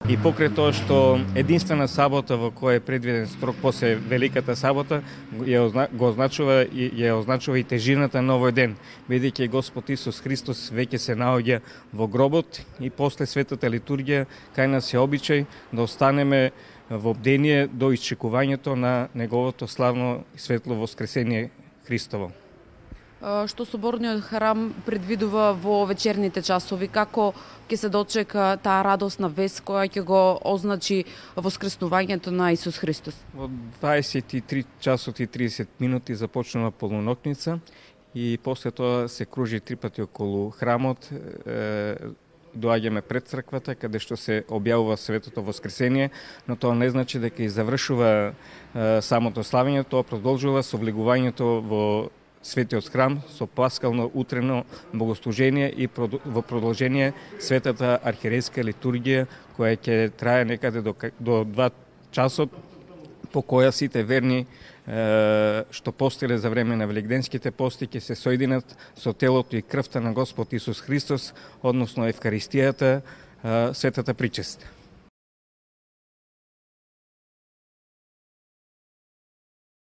И покрај тоа што единствена сабота во која е предвиден строг после Великата сабота го означува и тежината на овој ден, бидејќи Господ Исус Христос веќе се наоѓа во гробот и после светата литургија кај нас е обичај да останеме во бдение до исчекувањето на неговото славно и светло воскресение Христово. Што соборниот храм предвидува во вечерните часови, како ќе се дочека таа радосна вест која ќе го означи воскреснувањето на Исус Христос? Во 23 часот и 30 минути започнува полунокница и после тоа се кружи 3 пати околу храмот. Доаѓаме пред црквата каде што се објавува светото воскресение, но тоа не значи дека и завршува самото славење, тоа продолжува со влегувањето во Светиот храм со паскално утрено богослужение и во продолжение светата архиерейска литургија која ќе трае некаде до 2 часот, по која сите верни што постиле за време на великденските пости ќе се соединат со телото и крвта на Господ Исус Христос, односно Евкаристијата, светата причест.